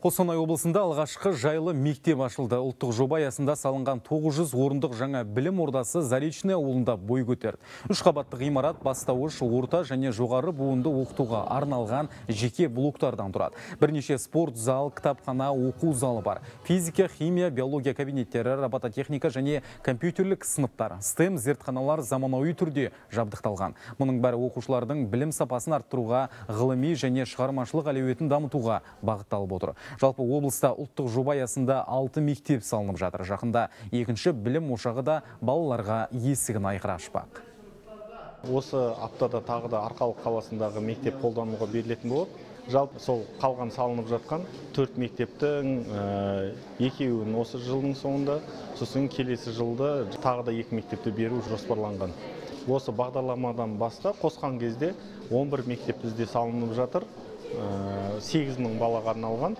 Қостанай облысында алғашқы жайлы мектеп ашылды. Ұлттық жоба аясында салынған 900 орындық жаңа білім ордасы Заречный ауылында бой көтерді. 3 қабатты ғимарат бастауыш, орта және жоғары буынды оқытуға арналған жеке блоктардан тұрады. Бірнеше спорт зал, кітапхана, оқу залы бар. Физика, химия, биология кабинеттері, робототехника және компьютерлік сыныптар, STEM зертханалар заманауи түрде жабдықталған. Мұның бәрі оқушылардың білім сапасын арттыруға, ғылыми және шығармашылық әлеуетін дамытуға бағытталып отыр. Жалпы облыста ұлттық жоба аясында 6 мектеп салынып жатыр. Жақында екінші білім ошағы да балаларға есігін айқара ашпақ. Осы аптада тағы да Арқалық қаласындағы мектеп қолдануға берілетін болады. Жалпы сол қалған салынып жатқан 4 мектептің екеуін осы жылдың соңында, сосын келесі жылда тағы да 2 мектепті беру жоспарланған. Осы бағдарламадан бастап қосқан кезде 11 мектеп бізде салынып жатыр. 8 мың балаға арналған.